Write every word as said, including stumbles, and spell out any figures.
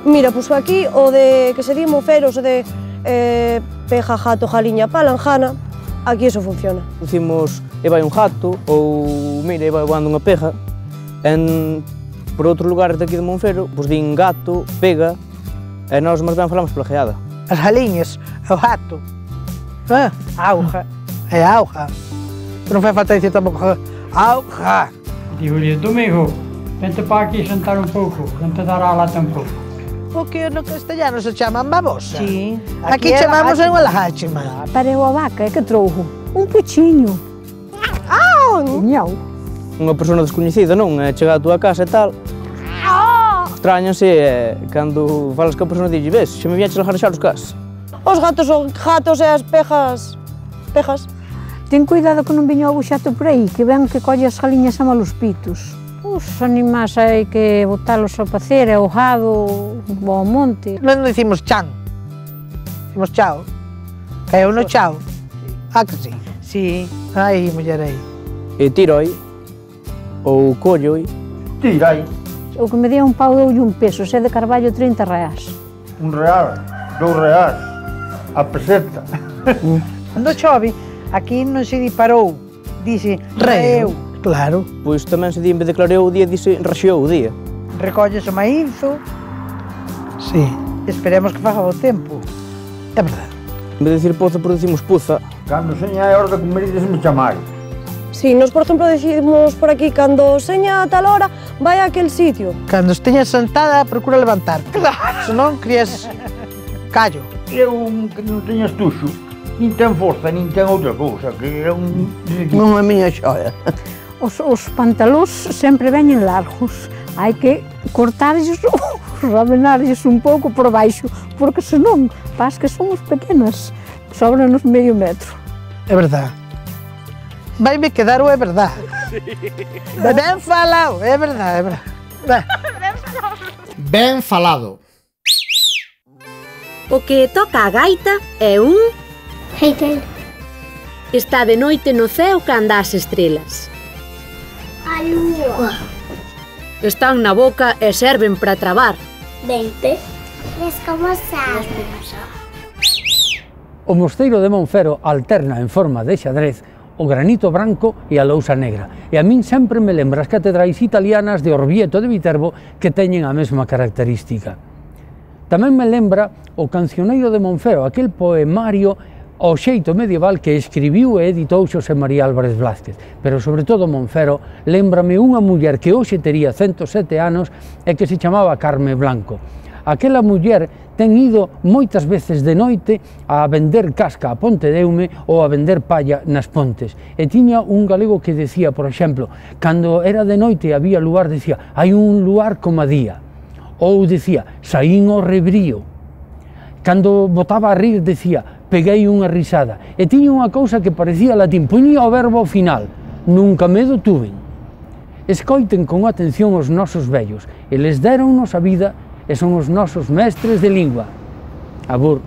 Mira, pois aquí o de que se di monferos, o de eh, peja, jato, jaliña, palanjana, aquí eso funciona. Dicimos, e vai un jato, ou mira, e vai voando unha peja. En, por outros lugares daqui de Monfero, pois din gato, pega, e nós máis ben falamos plageada. As jaliñas, o jato, ah, auja, é auja. Non fai falta dicir tampouco auja. Digo-lhe, Domingo, vente para aquí sentar un pouco, non te dará lá tampouco. O que no castellano se chaman babosa. Sí. Aquí, aquí chamamos en la háchima. Pareu a vaca, é que trouxo un puchiño. Au! Miau. Unha persona descoñecida, non? É chegar a túa casa e tal. Extrañanse, é, cando falas que a persona dixe, ves, xa me viaches a jarexar os cas. Os gatos son gatos e as pejas, pejas. Ten cuidado que non viña o buxato por aí, que ven que colle as galiñas a malos pitos. Os animais hai que botalos ao pacer, ao gado, ao monte. Non dicimos chan, dicimos chao. Caeu no chao. Ah, que sí? Sí. Ai, muller aí. E tiroi, ou colloi. Tirai. O que me día un pau doulle un peso, se de carballo trinta reais. Un real, dous reais, a peseta. Cando chove, aquí non se disparou, dice reo. Claro. Pois tamén se di, en vez de clareou o día, dice raxeou o día. Recolles o maízo. Sí. Esperemos que faga bo tempo. É verdade. En vez de dicir poza, por decimos puza. Cando seña é hora de comer, díseme chamai. Si, nos, por exemplo, decimos por aquí, cando seña a tal hora, vai a aquel sitio. Cando esteñas sentada, procura levantar. Claro. Se non, crías callo. É un que non teña estuxo, nin ten forza, nin ten outra cousa, que é un... Non é miña xoia. Os, os pantalóns sempre veñen largos. Hai que cortarlles ou ramenarlles un pouco por baixo, porque senón, pas que somos pequenas, sobranos medio metro. É verdade. Vai-me quedar o é verdade. Ben falado, é verdade, é verdade. Ben falado. O que toca a gaita é un... Heitel. Está de noite no ceo canda as estrelas. A lúa. Están na boca e serven para trabar. Dente. Descomosar. O mosteiro de Monfero alterna en forma de xadrez o granito branco e a lousa negra. E a min sempre me lembra as catedrais italianas de Orvieto de Viterbo que teñen a mesma característica. Tamén me lembra o Cancioneiro de Monfero, aquel poemario ao xeito medieval que escribiu e editou Xosé María Álvarez Blázquez. Pero, sobre todo, Monfero, lembrame unha muller que hoxe tería cento sete anos e que se chamaba Carme Blanco. Aquela muller ten ido moitas veces de noite a vender casca a Pontedeume ou a vender palla nas pontes. E tiña un galego que decía, por exemplo, cando era de noite e había luar, decía, hai un luar como a día. Ou decía, saín ao rebrío. Cando botaba a rir, decía, peguei unha risada. E tiña unha cousa que parecía latín, poñía o verbo ao final, nunca medo tuven. Escoiten con atención os nosos vellos, eles deronnos a vida e son os nosos mestres de lingua. Abur.